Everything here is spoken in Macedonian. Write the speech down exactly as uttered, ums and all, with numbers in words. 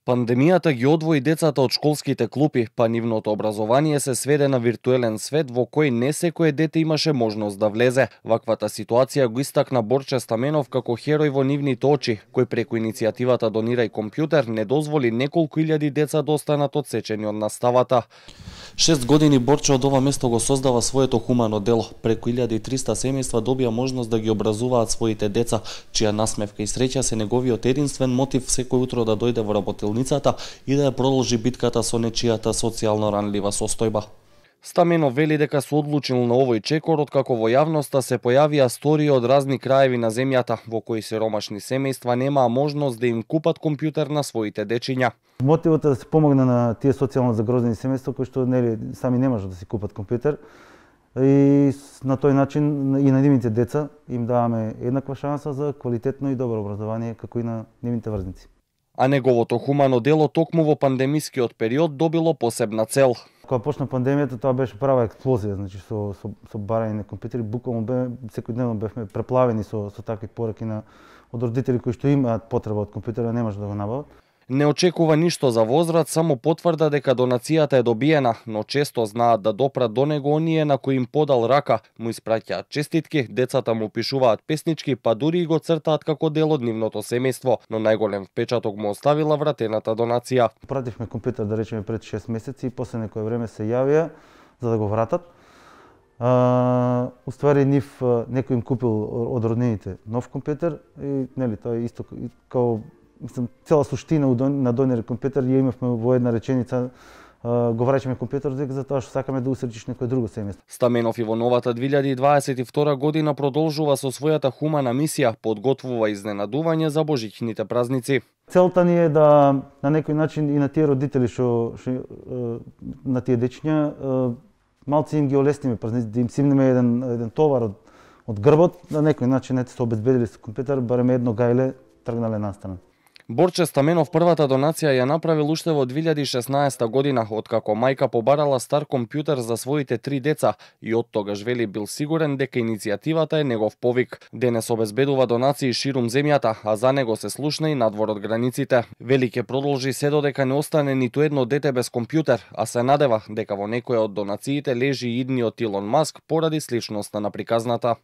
Пандемијата ги одвои децата од школските клупи, па нивното образование се сведе на виртуелен свет во кој не секое дете имаше можност да влезе. Ваквата ситуација го истакна Борче Стаменов како херој во нивните очи, кој преку иницијативата Донирај компјутер не дозволи неколку илјади деца да останат одсечени од наставата. Шест години Борче од ова место го создава своето хумано дело. Преку илјада и триста семејства добија можност да ги образуваат своите деца, чија насмевка и среќа се неговиот единствен мотив секој утро да дојде во работилницата и да ја продолжи битката со нечијата социјално ранлива состојба. Стаменов вели дека се одлучил на овој чекор откако во јавноста се појавија стории од разни краеви на земјата во кои сиромашни семејства немаа можност да им купат компјутер на своите дечиња. Мотивот е да се помогне на тие социјално загрозени семејства кои што нели сами не можат да си купат компјутер и на тој начин и на нивните деца им даваме еднаква шанса за квалитетно и добро образование како и на нивните врзници. А неговото хумано дело токму во пандемискиот период добило посебна цел. Кога почна пандемијата, тоа беше права експлозија, значи со со со барање на компјутери, буквално бе секојдневно бевме преплавени со со такви пораки на од родители кои што имаат потреба од компјутера, не може да го набават. Не очекува ништо за возврат, само потврда дека донацијата е добиена, но често знаат да допрат до него оние на кои им подал рака, му испраќаат честитки, децата му пишуваат песнички, па дури и го цртаат како дел од нивното семејство, но најголем впечаток му оставила вратената донација. Пративме компјутер да речеме пред шест месеци и после некое време се јавија за да го вратат. А, уствари нив некој им купил од роднините нов компјутер и нели тоа е исто као мислам, цела суштина на Донирај компјутер ја имавме во една реченица, го враќаме компјутерот затоа што сакаме да усречиш некое друго семејство. Стаменов и во новата две илјади и дваесет и втора година продолжува со својата хумана мисија, подготвува изненадување за божичните празници. Целта ни е да на некој начин и на тие родители што на тие дечиња малци им ги олесниме празници, да им симнеме еден еден товар од од грбот, на некој начин ете се обезбедили со компјутер, барем едно гајле тргнале настрана. Борче Стаменов првата донација ја направил уште во две илјади и шеснаесета година, откако мајка побарала стар компјутер за своите три деца и од тогаш вели бил сигурен дека иницијативата е негов повик. Денес обезбедува донации ширум земјата, а за него се слушна и надвор од границите. Вели ќе продолжи се додека не остане ниту едно дете без компјутер, а се надева дека во некоја од донациите лежи идниот Илон Маск поради сличноста на приказната.